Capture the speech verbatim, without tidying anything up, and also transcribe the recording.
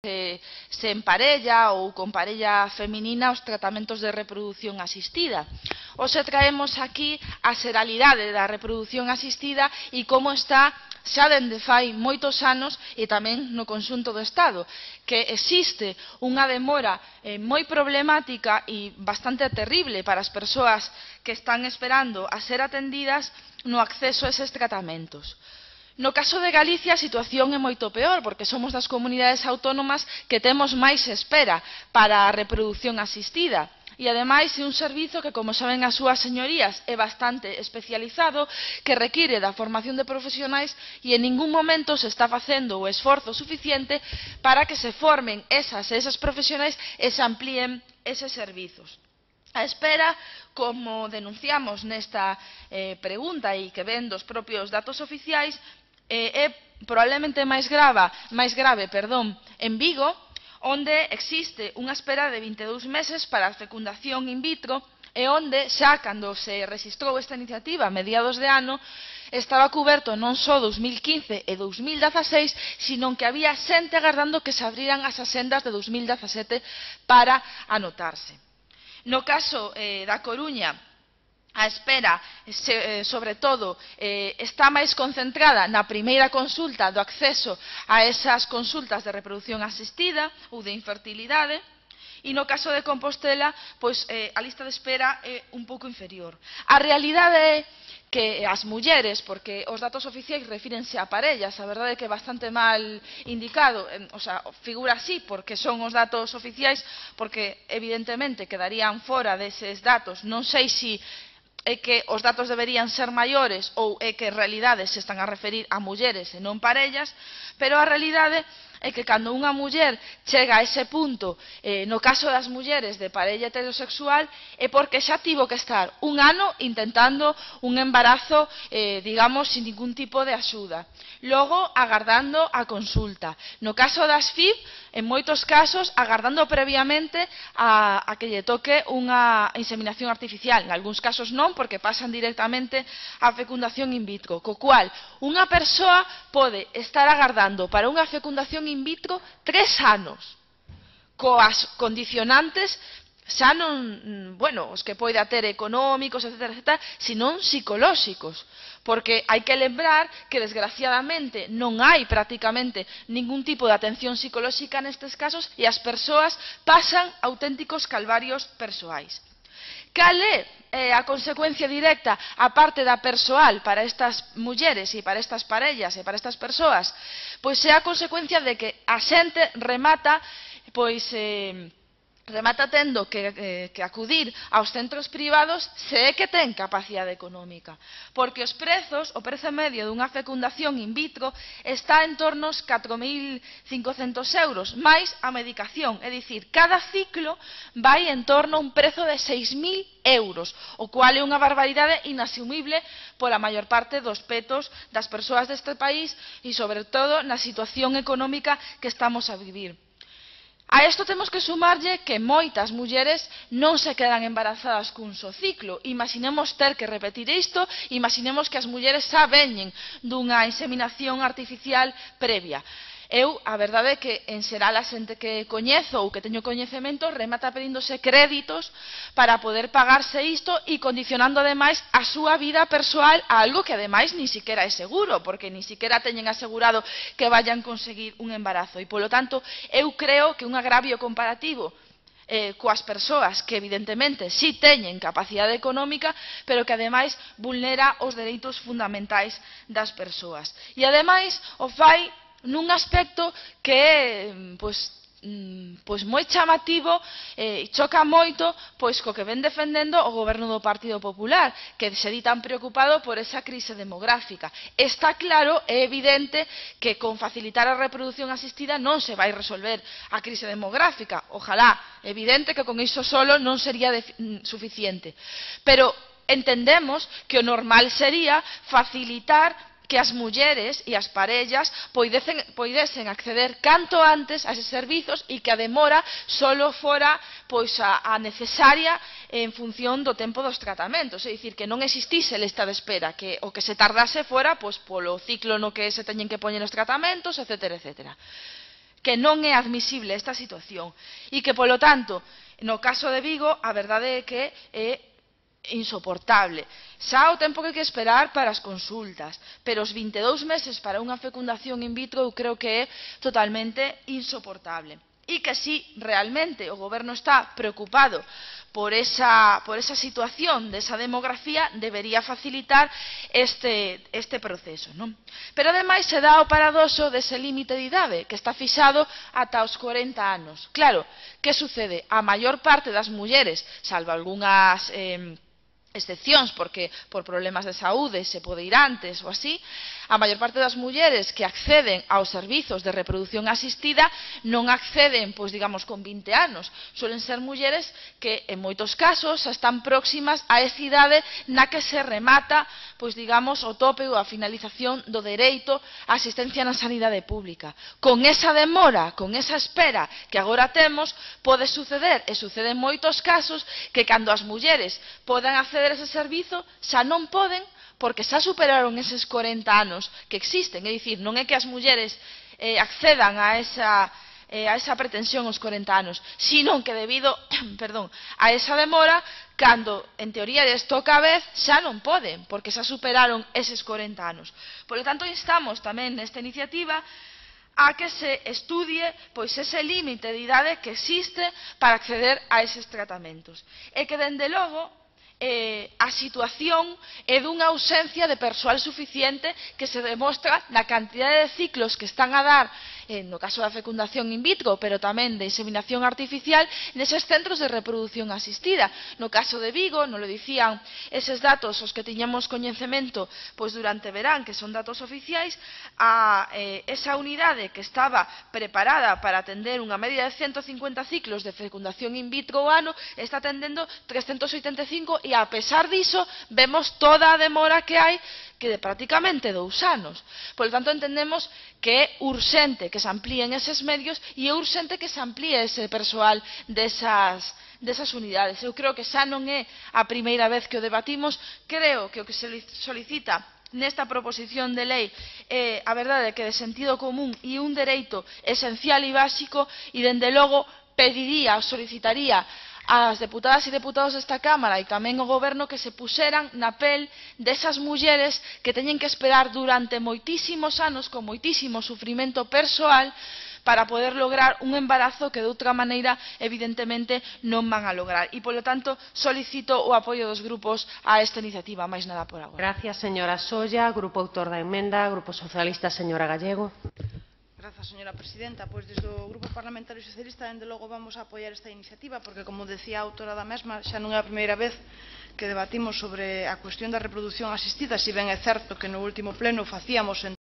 Se, se emparella ou con parella feminina os tratamentos de reproducción asistida. Hoxe traemos aquí a xeralidade da reprodución asistida e como está xa dende fai moitos anos e tamén no conxunto do Estado, que existe unha demora eh, moi problemática e bastante terrible para as persoas que están esperando a ser atendidas no acceso a eses tratamentos. No caso de Galicia a situación é moito peor, porque somos das comunidades autónomas que temos máis espera para a reproducción asistida. E, ademais, é un servizo que, como saben as súas señorías, é bastante especializado, que require da formación de profesionais e en ningún momento se está facendo o esforzo suficiente para que se formen esas, esas profesionais e se amplíen eses servizos. A espera, como denunciamos nesta eh, pregunta e que ven dos propios datos oficiais, é probablemente máis grave, máis grave perdón, en Vigo, onde existe unha espera de vinte e dous meses para a fecundación in vitro e onde, xa cando se rexistrou esta iniciativa a mediados de ano, estaba cuberto non só dous mil quince e dous mil dezaseis, sino que había xente agardando que se abriran as axendas de dous mil dezasete para anotarse. No caso eh, da Coruña, a espera, sobre todo, está máis concentrada na primeira consulta do acceso a esas consultas de reproducción asistida ou de infertilidade, e no caso de Compostela, pois, a lista de espera é un pouco inferior. A realidade é que as mulleres, porque os datos oficiais refírense a parellas, a verdade é que é bastante mal indicado, o sea, figura así porque son os datos oficiais, porque evidentemente quedarían fora deses datos, non sei se é que os datos deberían ser maiores ou é que en realidade se están a referir a mulleres e non parellas, pero a realidade é que cando unha muller chega a ese punto, eh, no caso das mulleres de parella heterosexual, é porque xa tivo que estar un ano intentando un embarazo, eh, digamos, sin ningún tipo de axuda. Logo, agardando a consulta. No caso das F I B, en moitos casos, agardando previamente a, a que lle toque unha inseminación artificial. En algúns casos non, porque pasan directamente a fecundación in vitro. Co cual, unha persoa pode estar agardando para unha fecundación in vitro tres anos, coas condicionantes xa non, bueno, os que poida ter económicos, etcétera, etcétera, senón psicolóxicos, porque hai que lembrar que, desgraciadamente, non hai prácticamente ningún tipo de atención psicolóxica nestes casos e as persoas pasan auténticos calvarios persoais. Cal é a consecuencia directa, a parte da persoal, para estas mulleres e para estas parellas e para estas persoas? Pois é a consecuencia de que a xente remata, pois, eh, remata tendo que, eh, que acudir aos centros privados se é que ten capacidade económica, porque os prezos, o prezo medio dunha fecundación in vitro está en torno aos catro mil cincocentos euros, máis a medicación, é dicir, cada ciclo vai en torno a un prezo de seis mil euros, o cual é unha barbaridade inasumible pola maior parte dos petos das persoas deste país e, sobre todo, na situación económica que estamos a vivir. A isto temos que sumarlle que moitas mulleres non se quedan embarazadas cun só ciclo. Imaginemos ter que repetir isto, imaginemos que as mulleres xa veñen dunha inseminación artificial previa. Eu, a verdade é que, en xeral, a xente que coñezo ou que teño coñecemento remata pedíndose créditos para poder pagarse isto e condicionando, ademais, a súa vida persoal a algo que, ademais, ni siquiera é seguro, porque ni siquiera teñen asegurado que vayan conseguir un embarazo. E, polo tanto, eu creo que un agravio comparativo Eh, coas persoas que evidentemente si teñen capacidade económica, pero que ademais vulnera os dereitos fundamentais das persoas. E ademais o fai nun aspecto que é pois, pois moi chamativo e eh, choca moito pois co que ven defendendo o goberno do Partido Popular, que se di tan preocupado por esa crise demográfica. Está claro, é evidente que con facilitar a reproducción asistida non se vai resolver a crise demográfica. Ojalá, evidente que con iso solo non sería suficiente, pero entendemos que o normal sería facilitar que as mulleres e as parellas poidesen, poidesen acceder canto antes a eses servizos e que a demora solo fora pois, a, a necesaria en función do tempo dos tratamentos, é dicir, que non existise lista de espera, que o que se tardase fora pois, polo ciclo no que se teñen que poñer os tratamentos, etcétera, etcétera. que non é admisible esta situación e que, polo tanto, no caso de Vigo, a verdade é que é insoportable. Xa o tempo que hai que esperar para as consultas, pero os vinte e dous meses para unha fecundación in vitro eu creo que é totalmente insoportable. E que si realmente o goberno está preocupado por esa, por esa situación desa demografía, debería facilitar este, este proceso, non? Pero ademais se dá o paradoxo dese límite de idade que está fixado ata os corenta anos. Claro, que sucede? A maior parte das mulleres, salvo algunhas eh, excepcións, porque por problemas de saúde se pode ir antes ou así, a maior parte das mulleres que acceden aos servizos de reproducción asistida non acceden, pois digamos, con vinte anos. Suelen ser mulleres que, en moitos casos, están próximas a esa idade na que se remata, pois digamos, o tope ou a finalización do dereito á asistencia na sanidade pública. Con esa demora, con esa espera que agora temos, pode suceder, e sucede en moitos casos, que cando as mulleres podan acceder a ese servizo, xa non poden, porque xa superaron eses corenta anos que existen, é dicir, non é que as mulleres eh, accedan a esa, eh, a esa pretensión aos corenta anos, sino que debido perdón, a esa demora, cando en teoría les toca a vez, xa non poden, porque xa superaron eses corenta anos. Por lo tanto, instamos tamén nesta iniciativa a que se estudie pois ese límite de idade que existe para acceder a eses tratamentos. E que, dende logo, Eh, a situación é dunha ausencia de persoal suficiente que se demostra na cantidade de ciclos que están a dar, eh, no caso da fecundación in vitro, pero tamén de inseminación artificial, neses centros de reproducción asistida. No caso de Vigo, non lo dicían eses datos os que tiñamos coñecemento pois durante verán, que son datos oficiais, a eh, esa unidade que estaba preparada para atender unha media de ciento cincuenta ciclos de fecundación in vitro ao ano, está atendendo trescentos oitenta e cinco e a pesar diso vemos toda a demora que hai, que de prácticamente dous anos. Por lo tanto, entendemos que é urxente que se amplíen eses medios e é urxente que se amplíe ese persoal desas, desas unidades. Eu creo que xa non é a primeira vez que o debatimos, creo que o que se solicita nesta proposición de lei é, a verdade, que de sentido común e un dereito esencial e básico, e dende logo pediría, solicitaría ás deputadas e deputados desta Cámara e tamén ao Goberno que se puseran na pel desas mulleres que teñen que esperar durante moitísimos anos, con moitísimo sufrimento persoal, para poder lograr un embarazo que de outra maneira evidentemente non van a lograr. E, polo tanto, solicito o apoio dos grupos a esta iniciativa, máis nada por agora. Gracias, señora Solla. Grupo autor da emenda, Grupo Socialista, señora Gallego. Grazas, señora presidenta. Pois desde o Grupo Parlamentario Socialista, dende logo, vamos a apoiar esta iniciativa, porque, como decía a autora da mesma, xa non é a primeira vez que debatimos sobre a cuestión da reproducción asistida, si ben é certo que no último pleno facíamos en